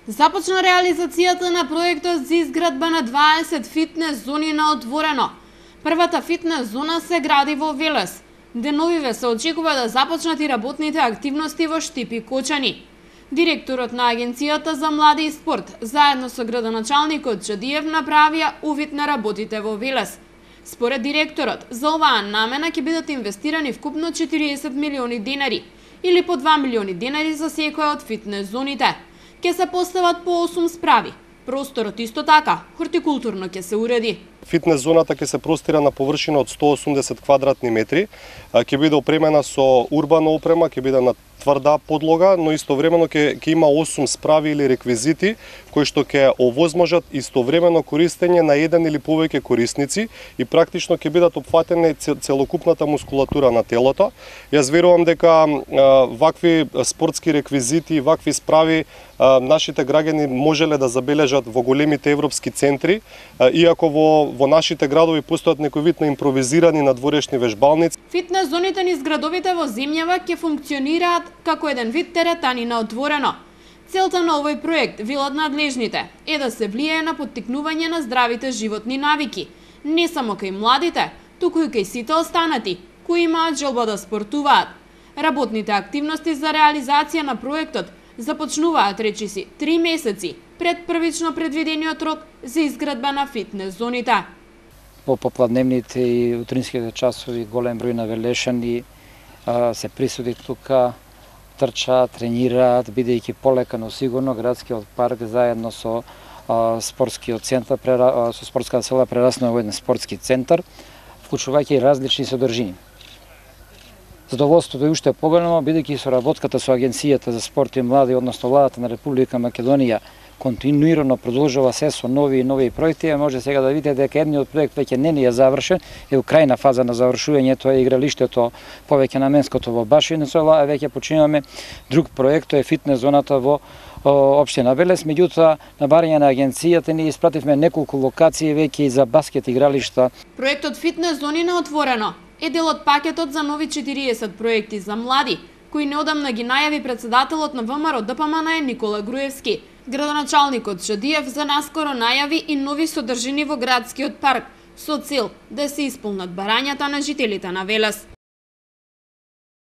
Започна реализацијата на проектот за изградба на 20 фитнес зони на отворено. Првата фитнес зона се гради во Велес. Деновиве се очекува да започнат и работните активности во Штип и Кочани. Директорот на Агенцијата за млади и спорт, заедно со градоначалникот Чадиев, направија увид на работите во Велес. Според директорот, за оваа намена ќе бидат инвестирани вкупно 40 милиони денари, или по 2 милиони денари за секоја од фитнес зоните. Ќе се постават по 8 справи. Просторот исто така, хортикултурно ќе се уреди. Фитнес зоната ќе се простира на површина од 180 квадратни метри, ќе биде опремена со урбана опрема, ќе биде на тврда подлога, но истовремено ќе има 8 справи или реквизити кои што ќе овозможат истовремено користење на еден или повеќе корисници и практично ќе бидат опфатени целокупната мускулатура на телото. Јас верувам дека вакви спортски реквизити и вакви справи нашите граѓани можеле да забележат во големите европски центри, иако во нашите градови постојат некој вид на импровизирани надворешни вежбалници. Фитнес зоните низ градовите во земјава ќе функционираат како еден вид теретани на отворено. Целта на овој проект, велат надлежните, е да се влијае на поттикнување на здравите животни навики, не само кај младите, туку и кај сите останати, кои имаат желба да спортуваат. Работните активности за реализација на проектот започнуваат, речиси, 3 месеци пред првично предвидениот рок за изградба на фитнес зоните. Во попладневните и утринските часови голем број на велешани се присуди тука, трчаат, тренираат, бидејќи полека, но сигурно градскиот парк заедно со спортскиот центар, со спортската села прераснува во еден спортски центар, вклучувајќи и различни содржини. Задоволството е уште поголемо, бидејќи соработката со Агенцијата за спорт и млади, односно владата на Република Македонија, континуирано продолжува се со нови и нови проекти. Може сега да видите дека едниот проект веќе не е завршен, е у крајна фаза на завршување, тоа е игралиштето повеќе наменското во Башиница, а веќе починуваме друг проект, тоа е фитнес зоната во општина Велес. Меѓутоа, на барање на агенцијата ни испративме неколку локации веќе и за баскет игралишта. Проектот фитнес зони на отворено е дел од пакетот за нови 40 проекти за млади, кои неодамна ги најави председателот на ВМРО ДПМН Никола Груевски. Градоначалникот Чадиев за наскоро најави и нови содржини во градскиот парк со цел да се исполнат барањата на жителите на Велес.